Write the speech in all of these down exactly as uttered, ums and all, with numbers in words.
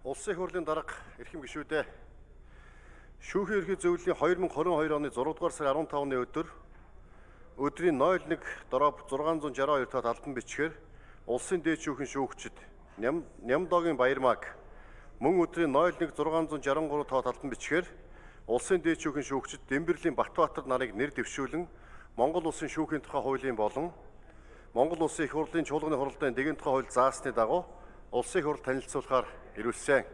Улсын их хурлын дарга эрхэм гишүүдээ шүүхийн ерхий зөвлөлийн две тысячи двадцать two оны зургаадугаар сарын15-ны өдөр өдрийн ноль нэг дороб шесть шестьдесят two дахь албан бичгээр улсын дээд шүүхийн шүүгчид Нямдогийн Баярмаг мөн өдрийн ноль нэг шесть шестьдесят three дахь албан бичгээр улсын дээд шүүхийн шүүгчид Дэмбэрлийн Батбаатар нарыг нэр дэвшүүлэн Монгол улсын шүүхийн тухай хуулийн болон Монгол улсын их хурлын чуулганы хуралдааны дэгийн тухай хууль заасны дагуу улсын их хурл танилцуулахаар ирүүлсэн.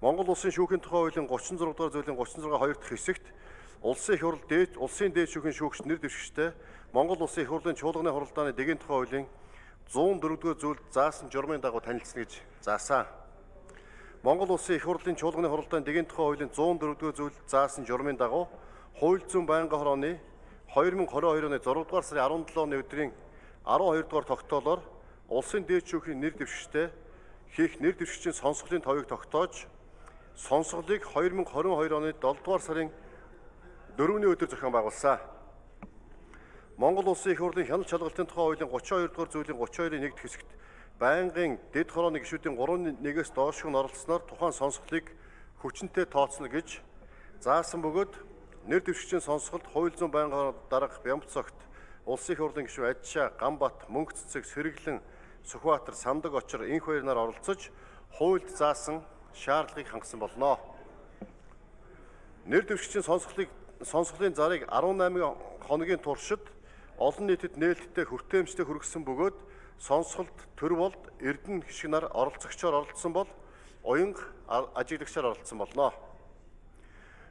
Монгол улсын шүүхийн тухай хуулийн thirty-six дугаар зүйлийн thirty-six хоёр дахь хэсэгт улсын их хурл дээд улсын дээд шүүхийн шүүгч нэр дэвшигчтэй Монгол улсын их хурлын чуулганы хуралдааны дэгийн тухай хуулийн one oh four дугаар зүйл заасан журмын дагуу танилцна гэж заасан. Монгол улсын их хурлын чуулганы хуралдааны дэгийн тухай хуулийн one oh four дугаар зүйл заасан журмын дагуу хууль зүйн байнгын хорооны twenty twenty-two оны six дугаар сарын seventh-ны өдрийн twelve дугаар тогтоолоор улсын дээд шүүхийн нэр дэвшигчтэй хийх нэр дэвшигчийн сонсголын товыг тогтоож сонсголыг twenty twenty-two оны seven дугаар сарын fourth-ний өдөр зохион байгуулсан. Монгол улсын их хурлын хяналт шалгалтын тухай хуулийн thirty-two дугаар зүйлийн thirty-two-ийн нэг дахь хэсэгт байнгын дэд хорооны гишүүдийн three one-ээс доош нь оролцсноор тухайн сонсголыг хүчинтэй тооцно гэж заасан бөгөөд нэр дэвшигчийн сонсголд хууль зүйн байнгын дарга Бямбцогт улсын их хурлын гишүүд Ажшаа, Гамбат, Мөнгө цэцэг, Сэргэлэн, Сүхбаатар, Сандаг Очор энх хоёр нар оролцож хуульд заасан шаардлагыг хангасан болно. Нэр дэвшигчийн сонсголыг сонсголын зарыг eighteen хоногийн туршид олон нийтэд нээлттэй хүртээмжтэй хүргэсэн бөгөөд сонсголд төр болд Эрдэнэ гишг нар оролцогчоор оролцсон бол уянга ажиглагчаар оролцсон болно.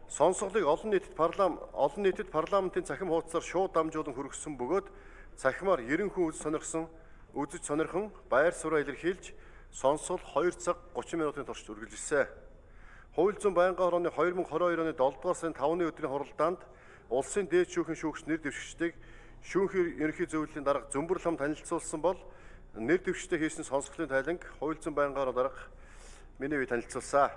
Сонсголыг олон нийтэд парламент олон нийтэд парламентын цахим хуудасаар шууд дамжуулан хүргэсэн бөгөөд цахимаар ninety хүн үз сонирхсон үзэж сонирхон байр сууриа илэрхийлж сонсгол two цаг thirty минутын турш үргэлжилсэн. Хууль зүйн байнгын хорооны twenty twenty-two оны seven дугаар сарын five-ны өдрийн хуралдаанд улсын дээд шүүхийн шүүгч нэр дэвшигчдийг шүүхийн ерөнхий зөвлөлийн дарга Зөмбөр Лам танилцуулсан бол нэр дэвшигчтэй хийсэн сонсголын тайланг хууль зүйн байнгын хороо дарга миний бие танилцуулсан.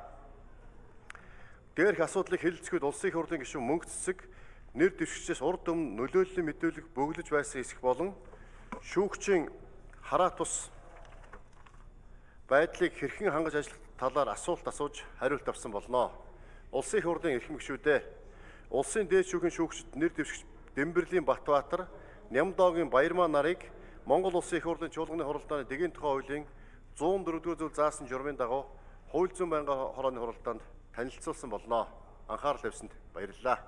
Дээрх асуудлыг хэлэлцэхэд улсын их хурлын гишүүн Мөнгө цэцэг нэр дэвшигчээс урд өмнө нөлөөллийн мэдүүлэг бөглөж байсан хэсэг болон шүүгчийн хараа тус байдлыг хэрхэн хангаж ажиллах талаар асуулт асууж хариулт авсан болно. Улсын их хурлын эрхэм гишүүдээ улсын дээд шүүхийн шүүгчид нэр дэвшигч Дэмбэрлийн Батбаатар, Нямдогийн Баярмаа нарыг Монгол улсын их хурлын чуулганы хуралдааны дэгийн тухай хуулийн one oh four дугаар зүйл заасан журмын дагуу хууль зүйн байнгын хорооны хуралдаанд танилцуулсан болно. Анхаарал тавьсанд баярлалаа.